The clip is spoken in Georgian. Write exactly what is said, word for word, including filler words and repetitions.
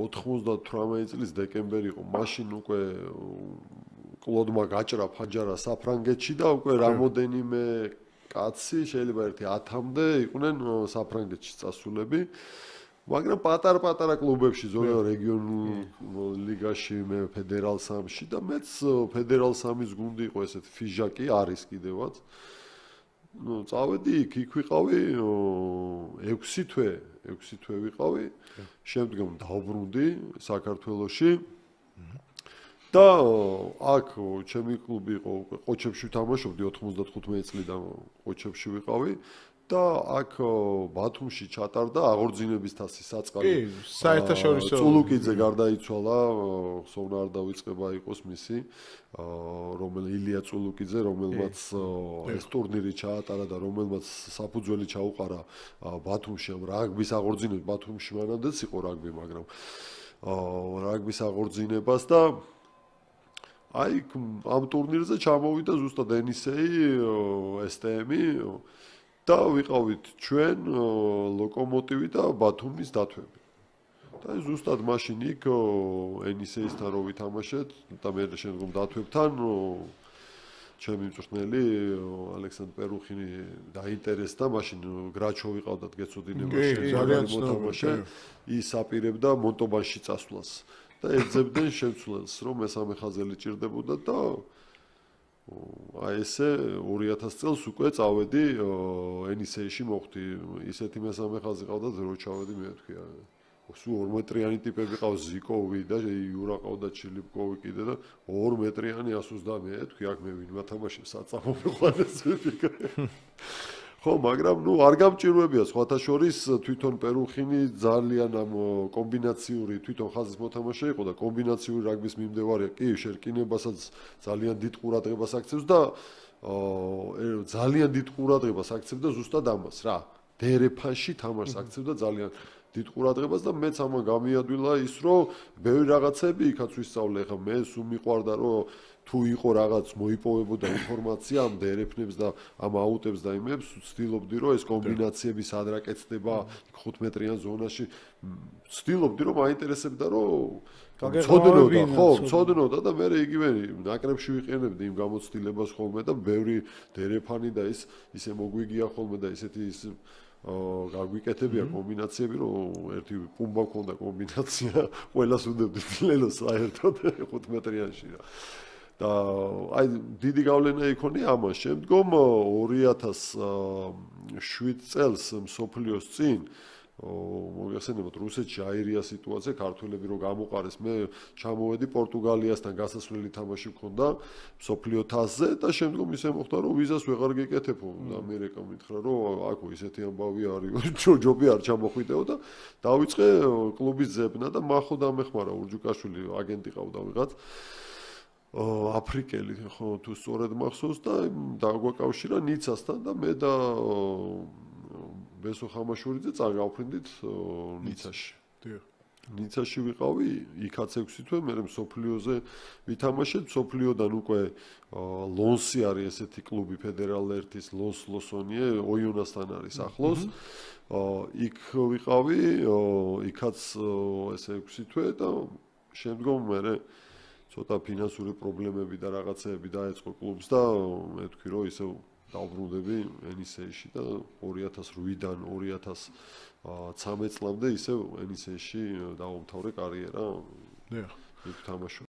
ოთხმოცდათვრამეტი წლის დეკემბერი იყო. მაშინ უკვე კლოდმა გაჭრა ფაჯარა საფრანგეთში და უკვე რამოდენიმე კაცი შეიძლება ერთი ათამდე იყვნენ საფრანგეთში წასულები. მაგრამ პატარ-პატარა კლუბებში, ზოგადად რეგიონულ ლიგაში, მე ფედერალ სამში და მეც ფედერალ სამის გუნდი იყო ესეთი ფიჟაკი არის კიდევაც. ნუ წავედი იქ, იქ ვიყავი ექვსი თვე, ექვსი თვე ვიყავი. შემდგომ დავბრუნდი საქართველოში. და აქ ჩემი კლუბი იყო უკვე ყოჩებში ვთამაშობდი ოთხმოცდათხუთმეტი წლიდან ყოჩებში ვიყავი. და აქ ბათუმში ჩატარდა აღორძინების თასის საწყალი. კი, საერთაშორისო წულუკიძე გარდაიცვალა, სოვნა არ დავიწყება იყოს მისი, რომელი ილია წულუკიძე, რომელმაც ეს ტურნირი ჩაატარა და რომელმაც საფუძველი ჩაუყარა ბათუმში ამ რაგბის აღორძინებას. ბათუმში მანამდეც იყო რაგბი, მაგრამ რაგბის აღორძინებას და აი ამ ტურნირზე ჩამოვიდა ზუსტად ენისეი, ეს ტე ემი და ვიყავით ჩვენ ლოკომოტივი და ბათუმის დათვები. და ზუსტად მაშინ იქ ენისეისთან რო ვითამაშეთ და მე შემდგომ დათვებთან ჩემი მწვრთნელი ალექსანდრე პერუხინი დაინტერესდა, მაშინ გრაჩო ვიყავდათ გეცოდინებაში, ძალიან მოთამაშე, ის აპირებდა მონტობანში წასვლას და ეძებდნენ შემცვლელს, რომ მესამე ხაზელი ჭირდებოდა და აი ესე ორი ათასი წელს უკვე წავედი ენისეიში მოხვდი. ისეთი მესამე ხაზი ყავდათ, რო ჩავედი მე თქვი. სულ ორ მეტრიანი ტიპები ყავს, ზიკოვი და იურა ყავდა ჩილიპკოვი კიდე და ორ მეტრიანი ას ოცდამე თქვი, აქ მე ვინ ვათამაშებ საწამო მეყვანეს ვიფიქრე. ხო, მაგრამ ნუ არ გამჭირვებია სხვათა შორის თვითონ პერუხინი ძალიან ამ კომბინაციური თვითონ ხაზის მოთამაშე იყო და კომბინაციური რაგბის მიმდევარია. კი, შერკინებასაც ძალიან დიდ ყურადღებას აქცევს და ძალიან დიდ ყურადღებას აქცევდა ზუსტად ამას რა. დერეფანში თამაშს აქცევდა ძალიან დიდ ყურადღებას და მეც ამან გამიადვილა ის, რომ ბევრი რაღაცები იქაც ვისწავლე. ხა მე სულ მიყვარდა, რომ თუ იყო რაღაც მოიპოვებოდა ინფორმაცია ამ დერეფნებს და ამ აუტებს და იმებს, ვცდილობდი რომ ეს კომბინაციები სად რა კეთდება ხუთმეტრიან ზონაში. ვცდილობდი რომ მაინტერესებდა რომ ცოდნოდა, ხო, ცოდნოდა და მე იგივე ნაკრებში ვიყენებდი იმ გამოცდილებას ხოლმე და ბევრი დერეფანი და ის ისე მოგვიგია ხოლმე და ისეთი ის გაგვიკეთებია კომბინაციები, რომ ერთი პუმბა ქონდა კომბინაცია, ყველას უნდები ლელოს საერთოდ ხუთმეტრიანში რა. და აი დიდი გავლენა იქონია ამას. შემდგომ ორი ათას შვიდ წელს მსოფლიოს წინ მოგეხსენებათ რუსეთში აირია სიტუაცია, ქართველები რო გამოყარეს, მე ჩამოვედი პორტუგალიასთან გასასვლელი თამაში მქონდა მსოფლიო თასზე და შემდგომ ისე მოხდა, რომ ვიზას ვეღარ გეკეთებო და ამერიკა მითხრა, რომ აქო ისეთი ამბავი არის, ჯობი არ ჩამოხვიდეო და დავიწყე კლუბის ზებნა და მახო დამეხმარა ურჯუკაშვილი აგენტი ყავდა ვიღაც. აფრიკელი ხო თუ სწორად მახსოვს და დაგვაკავშირა ნიცასთან და მე და ბესო ხამაშურიძე წაგავფრინდით ნიცაში. ნიცაში ვიყავი, იქაც ექვსი თვე, მე მსოფლიოზე ვითამაშეთ, მსოფლიოდან უკვე ლონსი არის ესეთი კლუბი ფედერალ ერთის ლოს ლოსონიე, ოიონასთან არის ახლოს. იქ ვიყავი, იქაც ესე ექვსი თვე და შემდგომ მე ცოტა ფინანსური პრობლემები და რაღაცეები დაეწყო კლუბს და მე თქვი რომ ისე დავბრუნდები ენისეიში და ორი ათას რვიდან ორი ათას ცამეტ წლამდე ისე ენისეიში დავამთავრე კარიერა. დიახ. იქ თამაშობ